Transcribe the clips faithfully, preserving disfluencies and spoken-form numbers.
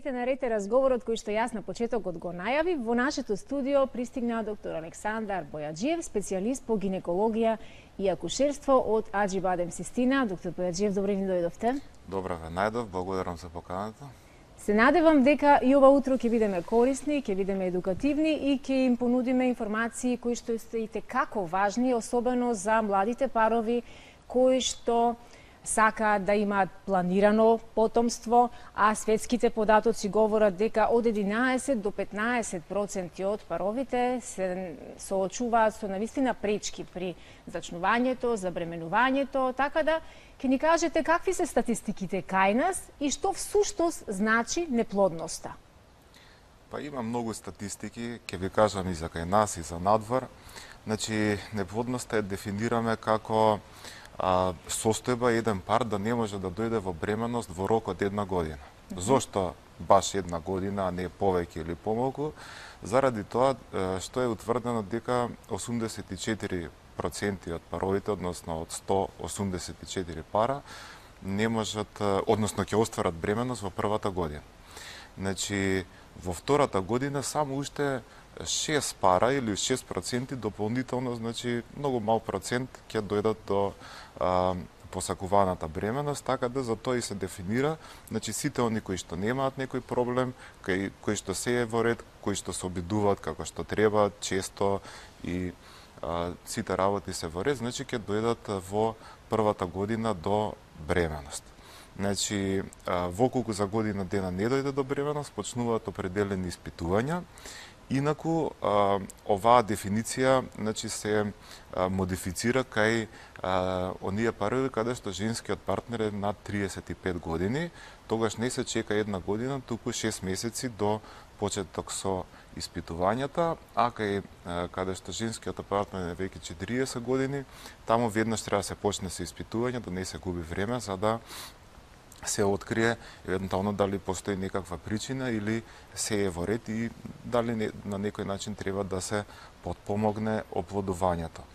Здравејте, на ред е разговорот кој што јас на почетокот го најавив. Во нашето студио пристигна доктор Александар Бојаджиев, специјалист по гинекологија и акушерство од Аџибадем Систина. Доктор Бојаджиев, добро ни дојдовте. Добро ве најдов, благодарам за поканата. Се надевам дека и ова утро ќе бидеме корисни, ќе бидеме едукативни и ќе им понудиме информации кои што се и како важни, особено за младите парови кои што сакаат да имаат планирано потомство, а светските податоци говорат дека од единаесет до петнаесет проценти од паровите се соочуваат со навистина пречки при зачнувањето, забременувањето, така да ќе ни кажете какви се статистиките кај нас и што всуштост значи неплодноста. Па има многу статистики, ќе ви кажам и за кај нас и за надвор. Значи, неплодноста е дефинираме како а, состојба еден пар да не може да дојде во бременост во рок од една година. Mm -hmm. Зошто баш една година, а не повеќе или помалку? Заради тоа што е утврдено дека осумдесет и четири проценти од паровите, односно од сто осумдесет и четири пара, не можат, односно ќе остварат бременост во првата година. Значи, во втората година само уште шест пара или шест проценти дополнително, значи многу мал процент ќе дојдат до а, посакуваната бременост, така да за тоа и се дефинира, значи сите они кои што немаат некој проблем, кои, кои што се е во ред, кои што се обидуваат како што треба, често и а, сите работи се во ред, значи ќе дојдат во првата година до бременост. Значи, во колку за година дена не дојде до бременост, почнуваат определени испитувања. Инаку, а, оваа дефиниција, значи, се а, модифицира кај а, оние парови каде што женскиот партнер е над триесет и пет години, тогаш не се чека една година, туку шест месеци до почеток со испитувањата, а кај а, каде што женскиот партнер е веќе четириесет години, таму веднаш треба да се почне со испитување, да не се губи време, за да се открие евентуално дали постои некаква причина или се е во ред и дали не, на некој начин треба да се потпомогне оплодувањето.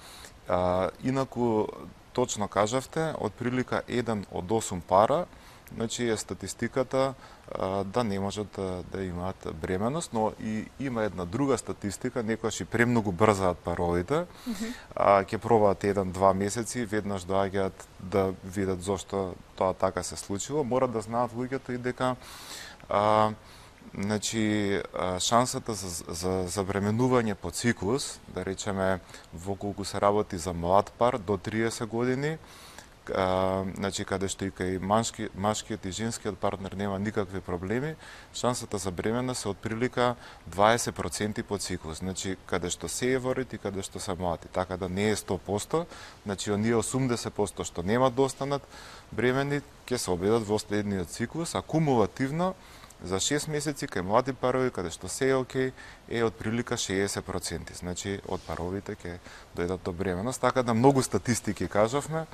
А, инаку, точно кажавте, од прилика еден од осум пара, значи е статистиката а, да не можат да, да имаат бременост, но и има една друга статистика, некојаш и премногу брзаат паровите, mm -hmm. а, ќе пробаат еден-два месеци, веднаш доаѓаат да видат зошто тоа така се случило. Мора да знаат луѓето и дека а, значи, шансата за, за забременување по циклус, да речеме во колку се работи за млад пар до триесет години, А, значи, каде што и кај машки, машкиот и женскиот партнер нема никакви проблеми, шансата за бременост е од прилика дваесет проценти по циклус. Значи, каде што се е во ред и каде што се млади. Така да не е сто проценти, значи, оние осумдесет проценти што нема да останат бремени, ќе се обидат во следниот циклус, а кумулативно за шест месеци кај млади парови, каде што се е окей, е од прилика шеесет проценти. Значи, од паровите ќе дојдат до бременост. Така да многу статистики кажавме,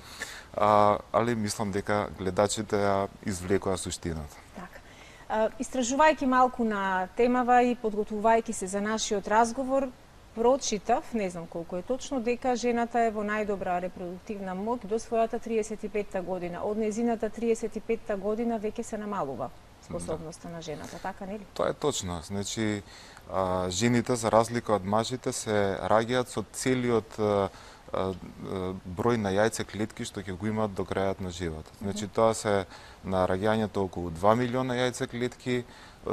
а, али мислам дека гледачите ја извлекоа суштината. Така. Истражувајќи малку на темава и подготвувајќи се за нашиот разговор, прочитав, не знам колку е точно, дека жената е во најдобра репродуктивна моќ до својата триесет и петта година. Од незината триесет и петта година веќе се намалува способноста да. на жената, така нели? Тоа е точно. Значи, а, жените, за разлика од мажите, се раѓаат со целиот а, а, број на јајце клетки што ќе го имаат до крајот на животот. Значи, тоа се на раѓањето околу два милиона јајце клетки,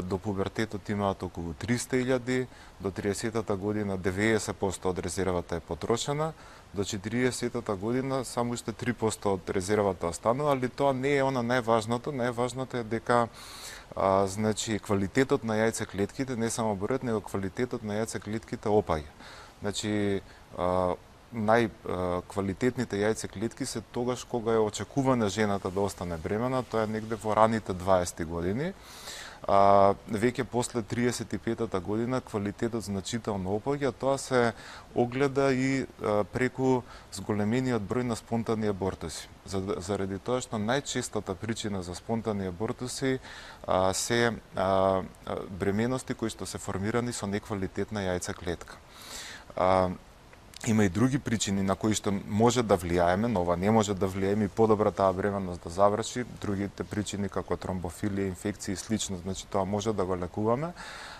до пубертетот имаат околу триста илјади, до триесетата година деветдесет проценти од резервата е потрошена, до четириесетата година само уште три проценти од резервата останува, али тоа не е она најважното. Најважното е дека а, значи, квалитетот на јајце клетките, не само бројот, него квалитетот на јајце клетките опаѓа. Значи, а, најквалитетните јајце клетки се тогаш кога е очекувана жената да остане бремена, тоа е негде во раните дваесети години. А, веќе после триесет и петтата година квалитетот значително опаѓа, тоа се огледа и а, преку зголемениот број на спонтани абортуси. Заради тоа што најчестата причина за спонтани абортуси а, се а, бременности кои што се формирани со неквалитетна јајца клетка. А, Има и други причини на кои што може да влијаеме, но ова не може да влијаеме и подобра таа бременност да заврши. Другите причини како тромбофилија, инфекции и слично, значи тоа може да го лекуваме,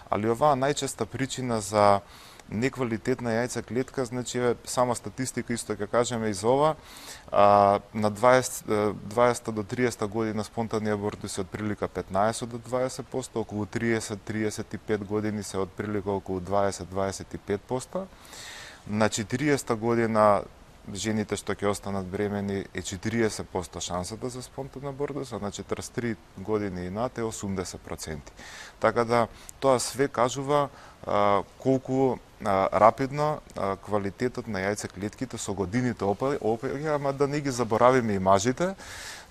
али оваа најчеста причина за неквалитетна јајца клетка, значи е сама статистика исто ќе кажеме и за ова, а, на дваесет до триесет година спонтани абортуси се од прилика петнаесет до дваесет проценти, околу триесет до триесет и пет години се од прилика околу дваесет до дваесет и пет проценти. На четириесета година жените што ќе останат бремени е четириесет проценти шансата за спонтан абортус, а на четридесет и три години и над е осумдесет проценти. Така да тоа све кажува а, колку а, рапидно а, квалитетот на јајцеклетките со годините опаѓа, ама да не ги заборавиме и мажите.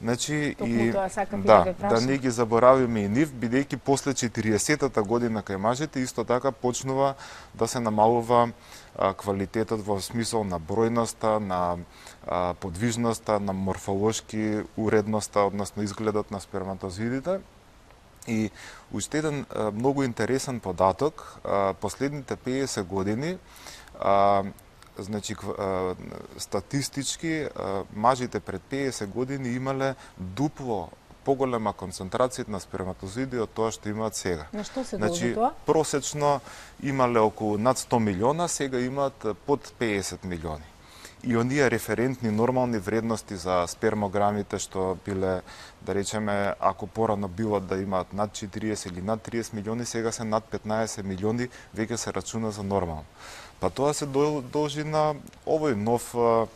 Значи и да, да не ги заборавиме и нив, бидејќи после четириесетата година кај мажите исто така почнува да се намалува а, квалитетот во смисол на бројноста, на а, подвижноста, на морфолошки уредноста, односно изгледот на сперматозидите. И уште еден а, многу интересен податок, а, последните педесет години а, значи статистички мажите пред педесет години имале дупло поголема концентрација на сперматозиди од тоа што имаат сега. На што се значи, должи тоа? Просечно имале околу над сто милиона, сега имаат под педесет милиони. И оние референтни нормални вредности за спермограмите што биле, да речеме, ако порано било да имаат над четириесет или над триесет милиони, сега се над петнаесет милиони, веќе се рачуна за нормално. Па тоа се должи на овој нов а,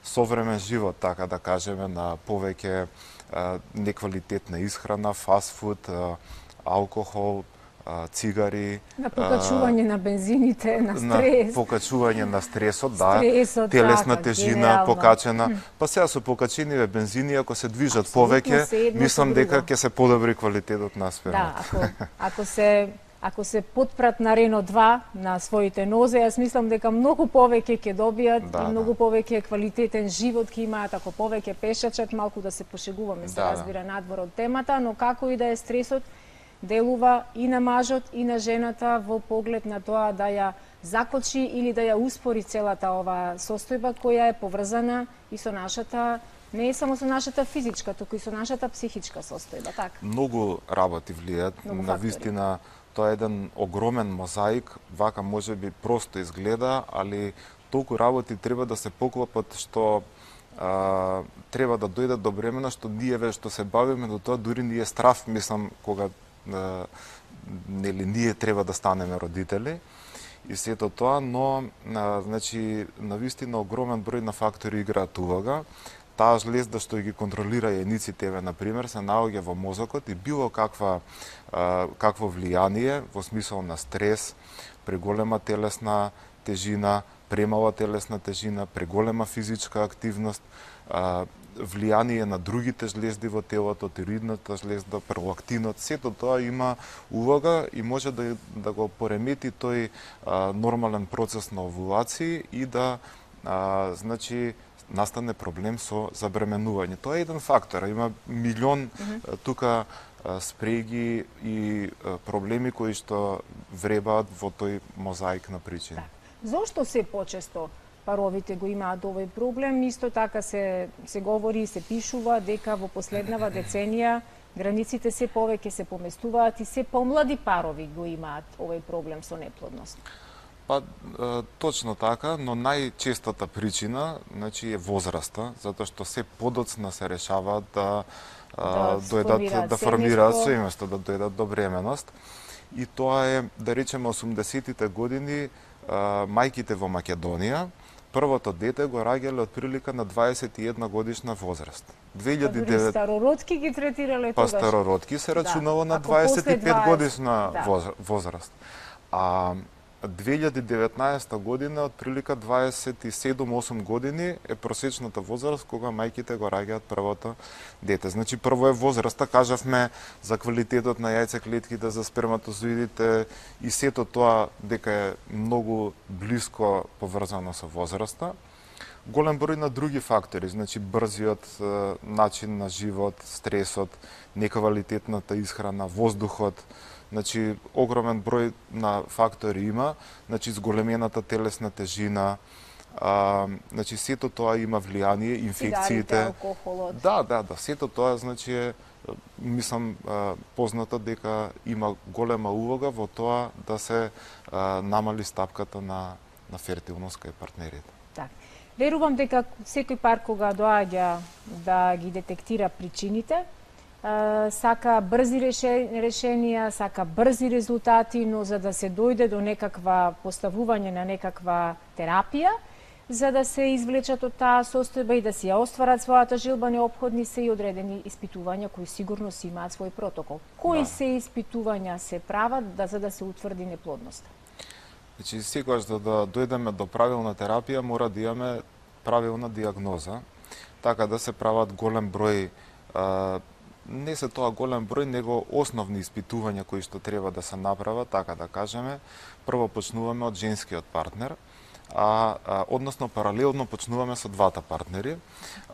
современ живот, така да кажеме, на повеќе а, неквалитетна исхрана, фастфуд, а, алкохол, а, цигари, на покачување а, на бензините, на стрес, на покачување на стресот, да, стресот, телесна така, тежина генерално покачена. Па сега со покачениве бензини, ако се движат повеќе, мислам дека ќе се подобри квалитетот на спермата. Да, ако, ако се Ако се потпрат на Рено два на своите нозе, јас мислам дека многу повеќе ќе добијат да, и многу да. повеќе квалитетен живот ќе имаат ако повеќе пешачат, малку да се пошегуваме, се да, разбира надвор од темата, но како и да е, стресот делува и на мажот и на жената во поглед на тоа да ја закочи или да ја успори целата ова состојба која е поврзана и со нашата, не е само со нашата физичка, туку и со нашата психичка состојба, така. Многу работи влијаат, на вистина. Тоа е еден огромен мозаик, вака може би просто изгледа, али толку работи треба да се поклопат што а, треба да дојдат до бремена, што ние ве што се бавиме до тоа, дури ни е страв, мислам, кога а, нели ние треба да станеме родители и сето тоа, но а, значи навистина огромен број на фактори играат улога. Таа жлезда што ги контролира јајниците, на пример, се наоѓа во мозокот и било каква а, какво влијание во смисол на стрес, преголема телесна тежина, премала телесна тежина, преголема физичка активност, а, влијание на другите жлезди во телото, тироидната жлезда, пролактинот, сето тоа има улога и може да, да го поремети тој а, нормален процес на овулација и да а, значи настане проблем со забременување. Тоа е еден фактор, има милион mm -hmm. тука спреги и проблеми кои што вребаат во тој мозаик на причини. Так. Зошто се почесто паровите го имаат овој проблем? Исто така се се говори и се пишува дека во последнава деценија границите се повеќе се поместуваат и се помлади парови го имаат овој проблем со неплодност. Па, точно така, но најчестата причина, значи, е возраста, затоа што се подоцна се решаваат да, да дојдат да формираат семејство, да дојдат до бременост. И тоа е, да речеме, осумдесетите години, мајките во Македонија првото дете го раѓале од прилика на дваесет и една годишна возраст. две илјади и девет... Па старородки ги третирале тогаш? Па старородки се рачунало да. на дваесет и пет годишна да. возраст. А две илјади и деветнаесета година, од прилика дваесет и седум осум години е просечната возраст кога мајките го раѓаат првото дете. Значи, прво е возраста, кажавме за квалитетот на јајцеклетките, за сперматозоидите и сето тоа дека е многу блиско поврзано со возраста. Голем број на други фактори, значи брзиот е, начин на живот, стресот, неквалитетната исхрана, воздухот, значи огромен број на фактори има, значи зголемената телесна тежина, А, значи сето тоа има влијание, инфекциите. Цигарите, алкохолот. Да, да, да, сето тоа значи е, мислам, познато дека има голема улога во тоа да се а, намали стапката на на фертилност кај партнерите. Так. Верувам дека секој пар кога доаѓа да ги детектира причините, сака брзи решенија, сака брзи резултати, но за да се дојде до некаква поставување на некаква терапија, за да се извлечат од таа состојба и да си ја остварат својата желба, неопходни се и одредени испитувања кои сигурно си имаат свој протокол. Кои да. се испитувања се прават да, за да се утврди неплодноста? Значи, секогаш за да дојдеме до правилна терапија, мора да имаме правилна диагноза, така да се прават голем број, а, не се тоа голем број, него основни испитувања кои што треба да се направат, така да кажеме. Прво почнуваме од женскиот партнер, а, а односно паралелно почнуваме со двата партнери,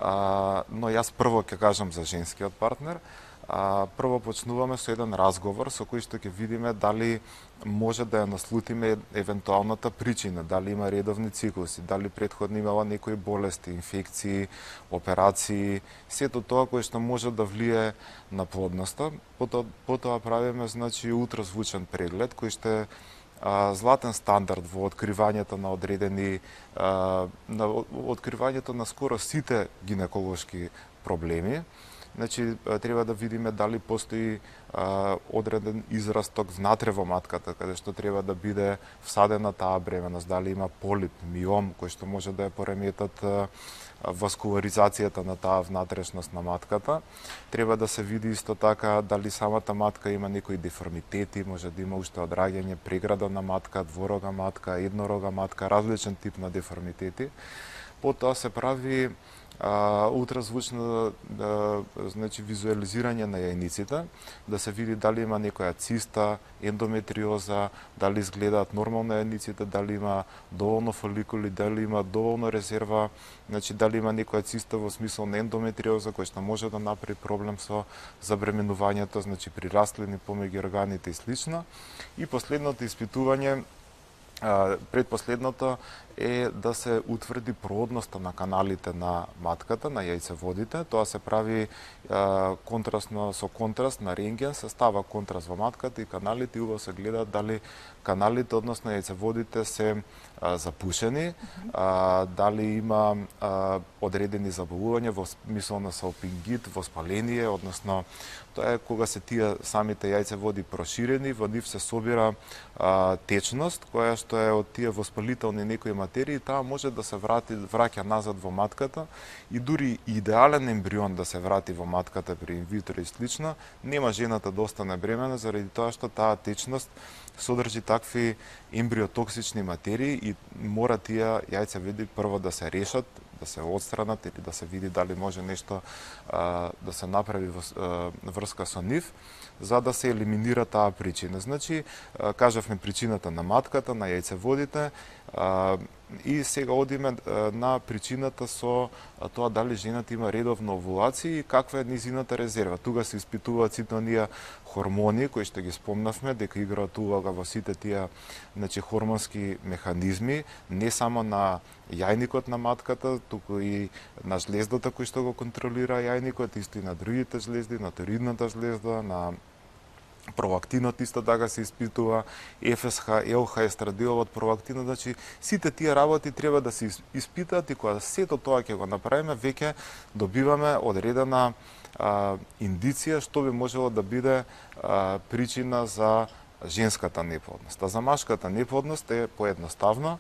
а, но јас прво ќе кажам за женскиот партнер. А, прво почнуваме со еден разговор со кој што ќе видиме дали може да ја наслутиме евентуалната причина, дали има редовни циклуси, дали претходно имала некои болести, инфекции, операции, сето тоа кое што може да влие на плодноста. Потоа, потоа правиме значи ултразвучен преглед кој што е а, златен стандард во откривањето на одредени а, на откривањето на скоро сите гинеколошки проблеми. Значи, треба да видиме дали постои а, одреден израсток внатре во матката, каде што треба да биде всадена таа бременност, дали има полип, миом, кој што може да ја пореметат а, васкуларизацијата на таа внатрешност на матката. Треба да се види исто така дали самата матка има некои деформитети, може да има уште одраѓање, преграда на матка, дворога матка, еднорога матка, различен тип на деформитети. Потоа се прави а, ултразвучно а, значи визуализирање на јајниците, да се види дали има некоја циста, ендометриоза, дали изгледаат нормално јајниците, дали има доволно фоликули, дали има доволно резерва, значи дали има некоја циста во смисол на ендометриоза која што може да направи проблем со забременувањето, значи при растлини помеѓу органите и слично. И последното испитување, предпоследното е да се утврди проводноста на каналите на матката, на јајцеводите. Тоа се прави контрастно со контраст на рентген, се става контраст во матката и каналите и убаво се гледа дали каналите, односно јајцеводите се а, запушени, а, дали има а, одредени заболувања во смисол на салпингит, воспаление, односно тоа е кога се тие самите јајцеводи проширени, во нив се собира а, течност која што е од тие воспалителни некои материи, таа може да се врати, враќа назад во матката и дури идеален ембрион да се врати во матката при инвитро и слично, нема жената да остане бремена заради тоа што таа течност содржи такви ембриотоксични материи и мора тие јајцеводи прво да се решат, да се отстранат или да се види дали може нешто а, да се направи во а, врска со нив, за да се елиминира таа причина. Значи, а, кажавме причината на матката, на јајцеводите, а, и сега одиме а, на причината со а, тоа дали жената има редовно овулации и каква е низината резерва. Тука се испитуваат сите оние хормони кои што ги спомнавме дека играат улога во сите тие значи хормонски механизми, не само на јајникот на матката, туку и на жлездата кој што го контролира јајникот, исто и на другите жлезди, на торидната жлезда, на пролактинот исто така се испитува, Еф Ес Ха, Ел Ха, естрадиолот, пролактинот, значи сите тие работи треба да се испитаат и кога сето тоа ќе го направиме, веќе добиваме одредена а, индиција што би можело да биде а, причина за женската неплодност. А за машката неплодност е поедноставно,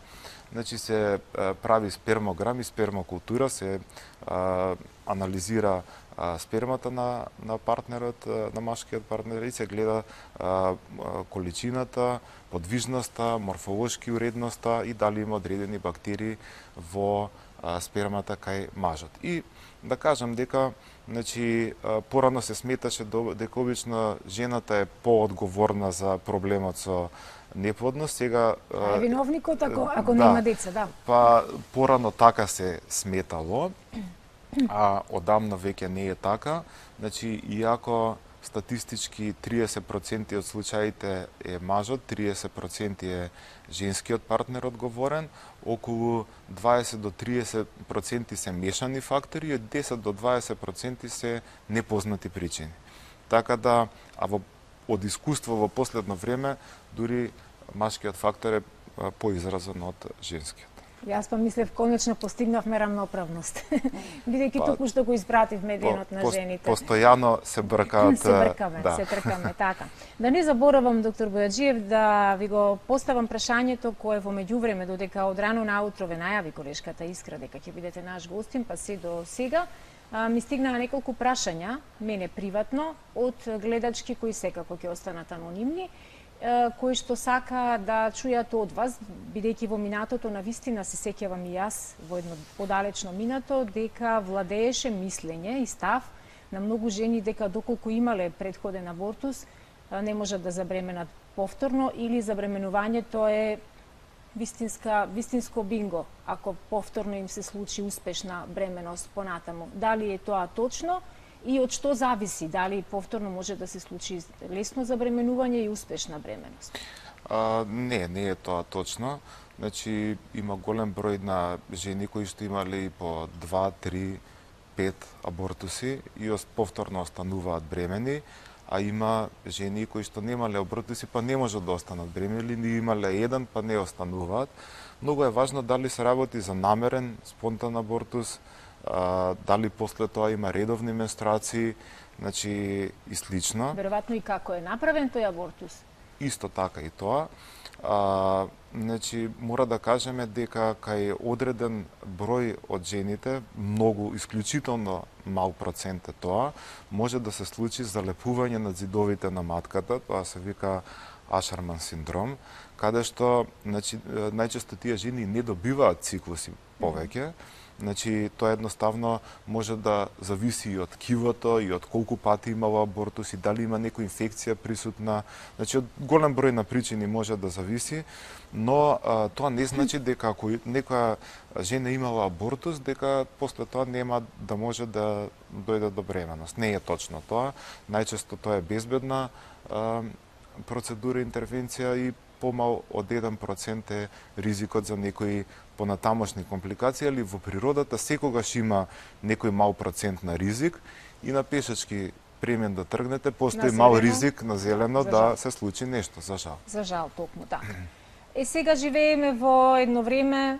значи се а, прави спермограм и спермокултура, се а, анализира а, спермата на, на партнерот, на машкиот партнер и се гледа а, количината, подвижноста, морфолошки уредноста и дали има одредени бактерии во а, спермата кај мажот. И да кажам дека значи порано се сметаше дека обично жената е поодговорна за проблемот со неплодност, сега е виновникот ако ако да, нема деца, да. Па порано така се сметало, а одамна веќе не е така. Значи, иако статистички триесет проценти од случаите е мажот, триесет проценти е женскиот партнер одговорен, околу дваесет до триесет проценти се мешани фактори и од десет до дваесет проценти се непознати причини. Така да, а во, од искуство во последно време, дури машкиот фактор е поизразен од женскиот. Јас па мислев, конечно постигнавме рамноправност. Бидејќи па, току што го испративме денот на жените. Постојано се бркаат. Се бркаме, да. се тркаме, така. Да не заборавам, доктор Бојаджиев, да ви го поставам прашањето кое во меѓувреме, додека од рано наутро ве најави колешката Искра дека ќе бидете наш гостин, па се до сега, а, ми стигнаа неколку прашања, мене приватно, од гледачки кои секако ќе останат анонимни, кои што сака да чујат од вас, бидејќи во минатото на вистина се сеќавам и јас во едно подалечно минато, дека владееше мислење и став на многу жени дека доколку имале предходен абортус, не можат да забременат повторно или забременувањето е вистинска, вистинско бинго, ако повторно им се случи успешна бременост понатаму. Дали е тоа точно? И од што зависи, дали повторно може да се случи лесно забременување и успешна бременост? А, не, не е тоа точно. Значи, има голем број на жени кои што имале и по два, три, пет абортуси и повторно остануваат бремени, а има жени кои што немале абортуси па не можат да останат бремени, или имале еден па не остануваат. Многу е важно дали се работи за намерен, спонтан абортус, Uh, дали после тоа има редовни менструации, значи и слично. Веројатно и како е направен тој абортус. Исто така и тоа. Uh, значи мора да кажеме дека кај одреден број од жените, многу исклучително мал процент е тоа, може да се случи залепување на зидовите на матката, тоа се вика Ашерман синдром, каде што значи најчесто тие жени не добиваат циклуси повеќе. Значи, тоа едноставно може да зависи и од ткивото, и од колку пати имало абортус, и дали има некоја инфекција присутна. Значи, од голем број на причини може да зависи, но а, тоа не значи дека ако некоја жена имала абортус, дека после тоа нема да може да дојде до бременост. Не е точно тоа. Најчесто тоа е безбедна а, процедура, интервенција и помал од еден процент е ризикот за некои понатамошни компликации, али во природата секогаш има некој мал процент на ризик и на пешачки премен да тргнете, постои мал ризик на зелено да се случи нешто, за жал. За жал, токму така. Е, сега живееме во едно време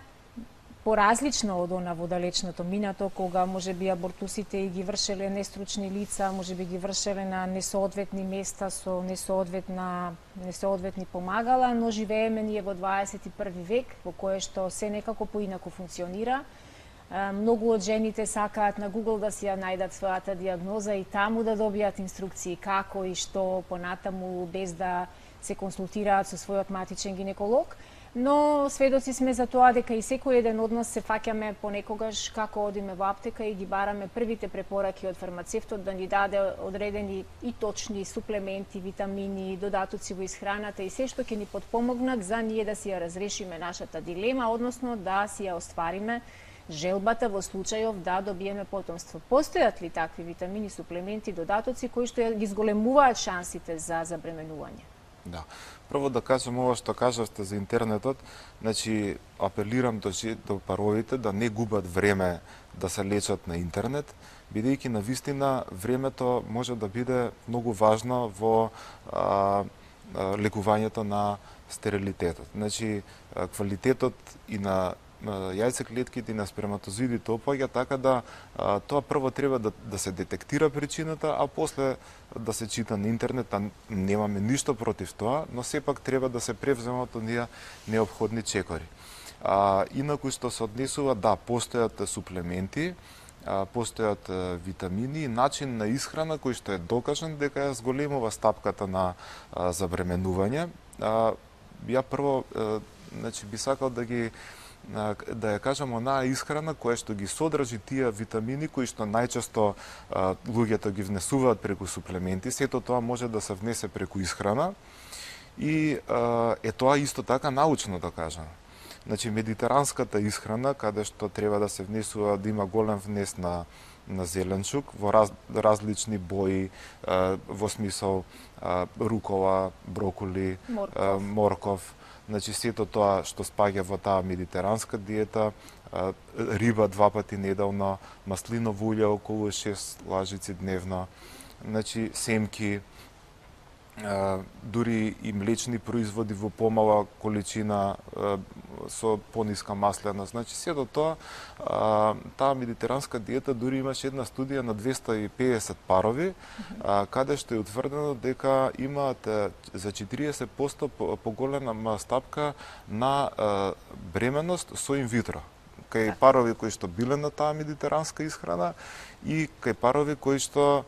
поразлично од она во далечното минато, кога може би абортусите ги вршеле нестручни лица, може би ги вршеле на несоодветни места со несоодветна, несоодветни помагала, но живееме ние во дваесет и први век, во кое што се некако поинаку функционира. Многу од жените сакаат на Google да си ја најдат својата диагноза и таму да добијат инструкции како и што понатаму, без да се консултираат со својот матичен гинеколог. Но сведоци сме за тоа дека и секој еден од нас се фаќаме понекогаш како одиме во аптека и ги бараме првите препораки од фармацевтот да ни даде одредени и точни суплементи, витамини, додатоци во исхраната и се што ќе ни потпомогнат за ние да си ја разрешиме нашата дилема, односно да си ја оствариме желбата во случајов да добиеме потомство. Постојат ли такви витамини, суплементи, додатоци кои што ги зголемуваат шансите за забременување? Да. Прво да кажам ова што кажавте за интернетот, значи апелирам до, до паровите да не губат време да се лечат на интернет, бидејќи на вистина времето може да биде многу важно во а, а, лекувањето на стерилитетот. Значи квалитетот и на јајцеклетките и на сперматозоидите опаѓа, така да а, тоа прво треба да, да се детектира причината, а после да се чита на интернет, а немаме ништо против тоа, но сепак треба да се превземат оние неопходни чекори. А, инаку што се однесува, да, постојат суплементи, а, постојат а, витамини и начин на исхрана кој што е докажан дека ја зголемува стапката на а, забременување. А, ја прво, а, значи, би сакал да ги да ја кажам онаа исхрана која што ги содржи тие витамини кои што најчесто а, луѓето ги внесуваат преку суплементи, сето тоа може да се внесе преку исхрана и а, е тоа исто така научно докажано. Значи медитеранската исхрана каде што треба да се внесува, да има голем внес на на зеленчук во раз, различни бои, во смисол рукова, броколи, морков. морков. Значи сето тоа што спаѓа во таа медитеранска диета, риба два пати неделно, маслиново улје околу шест лажици дневно, значи семки, дури и млечни производи во помала количина со пониска маслена. Значи сето тоа, таа медитеранска диета дури имаше една студија на двесте и педесет парови, каде што е утврдено дека имаат за четириесет проценти поголема стапка на бременост со инвитро. Кај парови кои што биле на таа медитеранска исхрана и кај парови кои што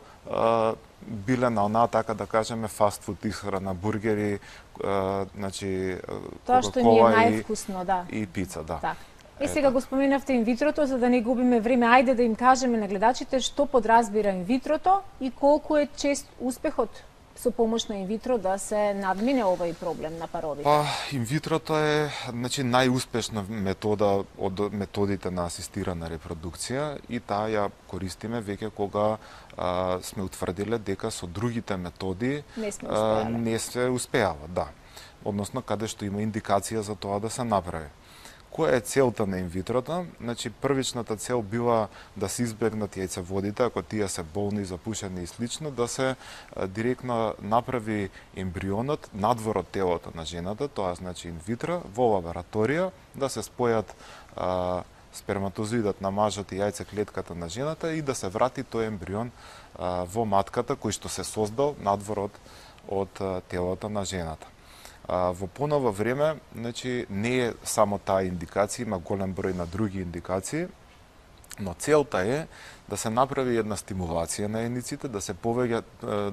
биле на онаа, така да кажеме, фастфуд исхрана, бургери, значи тоа што ни е највкусно, да. И пица, да. Так. И сега го споменавте инвитрото, за да не губиме време, ајде да им кажеме на гледачите што подразбира инвитрото и колку е чест успехот со помош на инвитро да се надмине овој проблем на паровите? Па, инвитрото е, значи, најуспешна метода од методите на асистирана репродукција и таа ја користиме веќе кога а, сме утврдиле дека со другите методи не, а, не се успеава, да. Односно, каде што има индикација за тоа да се направи. Која е целта на инвитрото? Значи, првичната цел била да се избегнат јајцеводите, ако тие се болни, запушени и слично, да се а, директно направи ембрионот надвор од телото на жената, тоа значи инвитро, во лабораторија, да се спојат а, сперматозоидот на мажот и јајцеклетката на жената и да се врати тој ембрион а, во матката кој што се создал надвор од, од а, телото на жената. Во поново време, значи, не е само таа индикација, има голем број на други индикации, но целта е да се направи една стимулација на јајниците, да се повеќе,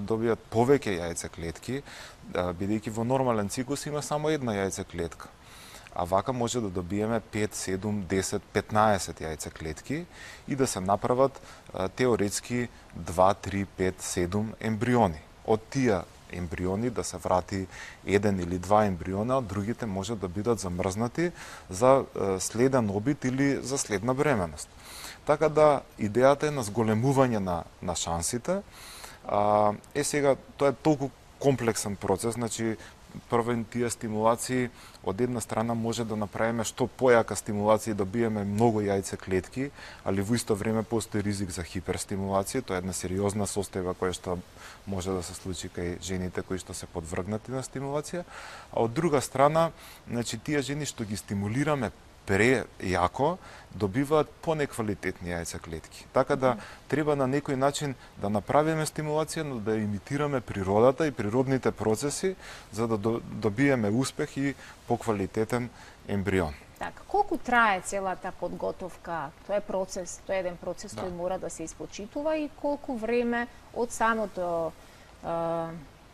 добијат повеќе јајцеклетки, бидејќи во нормален циклус има само една јајцеклетка. А вака може да добиеме пет, седум, десет, петнаесет јајцеклетки и да се направат теоретски два, три, пет, седум ембриони. Од тие ембриони да се врати еден или два ембриона, а другите може да бидат замрзнати за следен обид или за следна бременост. Така да идејата е на зголемување на, на шансите. А, е сега, тоа е толку комплексен процес, значи прво тие стимулации од една страна може да направиме што појака стимулација и добиеме многу јајцеклетки, али во исто време постои ризик за хиперстимулација, тоа е една сериозна состојба која што може да се случи кај жените кои што се подвргнати на стимулација, а од друга страна, значи тие жени што ги стимулираме прејако, добиваат понеквалитетни јајцеклетки. Така да треба на некој начин да направиме стимулација, но да имитираме природата и природните процеси за да добиеме успех и поквалитетен ембрион. Така, колку трае целата подготовка? Тоа е процес, тоа е еден процес да. Кој мора да се испочитува и колку време од самото е,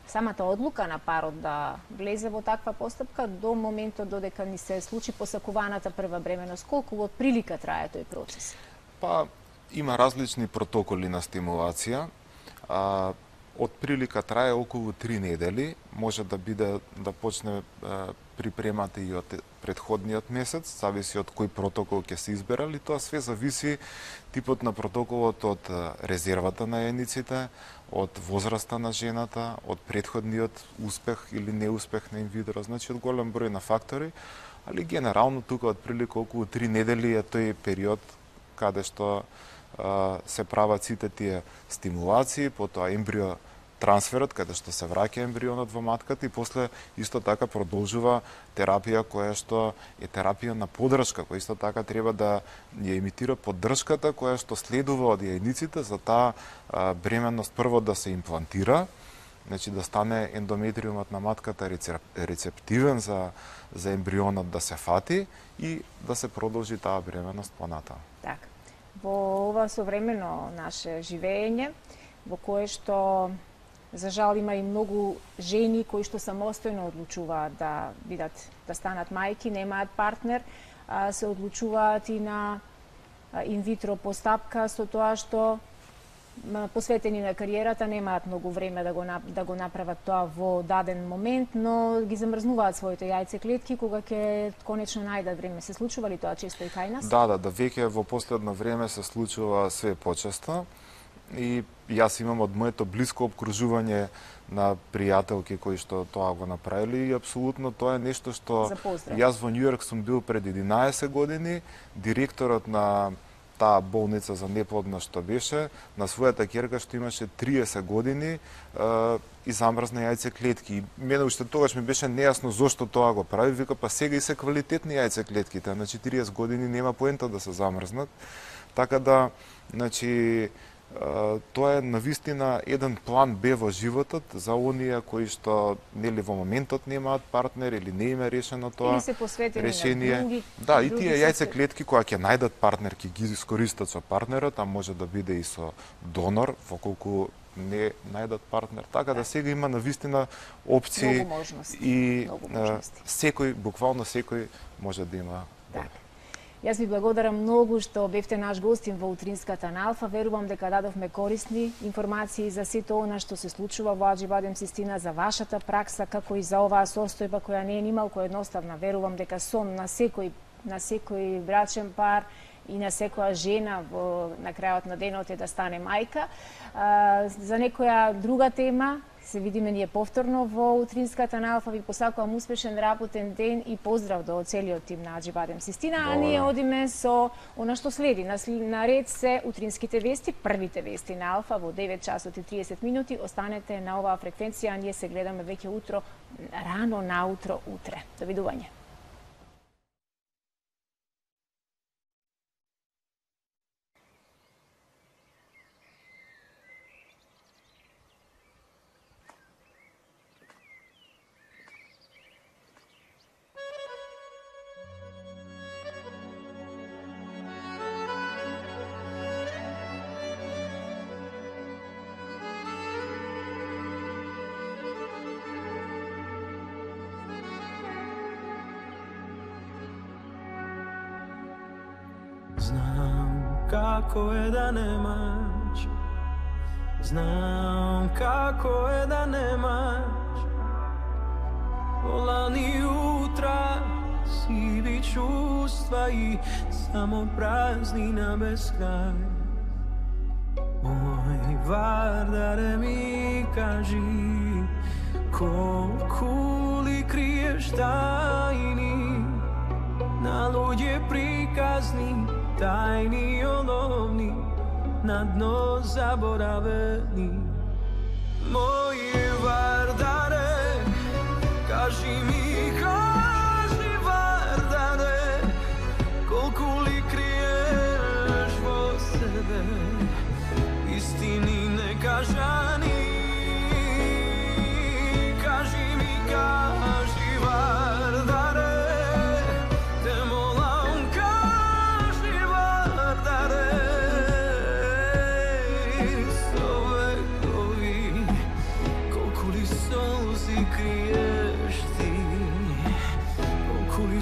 самата одлука на парот да влезе во таква постапка до моментот додека ни се случи посакуваната прва бременост, колку од прилика трае тој процес? Па, има различни протоколи на стимулација. А, од прилика трае околу три недели, може да биде да почне а, припремата и од претходниот месец, зависи од кој протокол ќе се изберали, тоа све зависи типот на протоколот од резервата на јајниците, од возраста на жената, од претходниот успех или неуспех на инвитро, значи од голем број на фактори, али генерално тука од прилика околу три недели е тој период каде што а, се прават сите тие стимулации, потоа ембрио трансферот, каде што се враќа ембрионот во матката и после исто така продолжува терапија која што е терапија на поддршка, која исто така треба да ја имитира поддршката која што следува од јајниците за таа бременност прво да се имплантира, значи да стане ендометриумот на матката рецептивен за за ембрионот да се фати и да се продолжи таа бременност понатаму. Така. Во ова современо наше живење, во кое што за жал има и многу жени кои што самостојно одлучуваат да бидат да станат мајки, немаат партнер, а, се одлучуваат и на инвитро постапка со тоа што посветени на кариерата, немаат многу време да го да го направат тоа во даден момент, но ги замрзнуваат своите јајцеклетки кога ќе конечно најдат време. Се случува ли тоа често и кај нас? Да, да, да, веќе во последно време се случува све почесто. И јас имам од моето блиско обкружување на пријателки кои што тоа го направили и апсолутно тоа е нешто што јас во Њујорк сум бил пред единаесет години, директорот на таа болница за неплодно што беше, на својата ќерка што имаше триесет години и замрзна јајцеклетки. Мене уште тогаш ми беше нејасно зошто тоа го прави, вика па сега и се квалитетни јајцеклетките, на четириесет години нема поента да се замрзнат. Така да, значи, тоа е навистина еден план Б во животот за оние кои што нели во моментот немаат партнер или не им е решено тоа решение. Други, да, и тие јајцеклетки кога ќе најдат партнер, ќе ги искористат со партнерот, а може да биде и со донор, воколку не најдат партнер. Така да, да сега има навистина опции и секој, буквално секој може да има партнер. Јас ви благодарам многу што бевте наш гостин во утринската на Алфа. Верувам дека дадовме корисни информации за сето она што се случува во Аџибадем Систина, за вашата пракса, како и за оваа состојба која не е нималку едноставна. Верувам дека сон на секој на секој брачен пар и на секоја жена во на крајот на денот е да стане мајка. А, за некоја друга тема се видиме ние повторно во утринската на Алфа. Ви посакувам успешен работен ден и поздрав до целиот тим на Аџибадем Систина. А ние одиме со она што следи. На ред се утринските вести, првите вести на Алфа во девет часот и триесет минути. Останете на оваа фреквенција, а ние се гледаме веќе утро, рано наутро утре. Довидување. Како е да немаш, знам како е да немаш полани утра, сиви чувства и само празнина без крај. Ој, Вардаре ми кажи, колку ли криеш тајни на луѓе приказни, тајни и оловни, на дно заборавени. Мој Вардаре, кажи ми, кажи Вардаре, колку ли криеш во себе, истини некажани. Кажи ми, кажи Вардаре,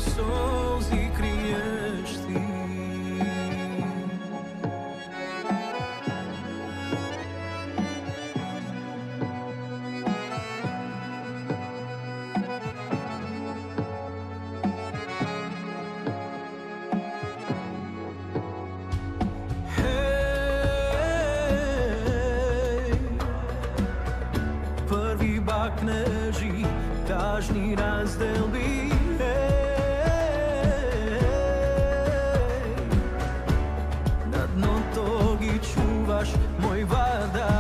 солзи криеш ти. Први бакнежи, тажни разделби, мој Вардар.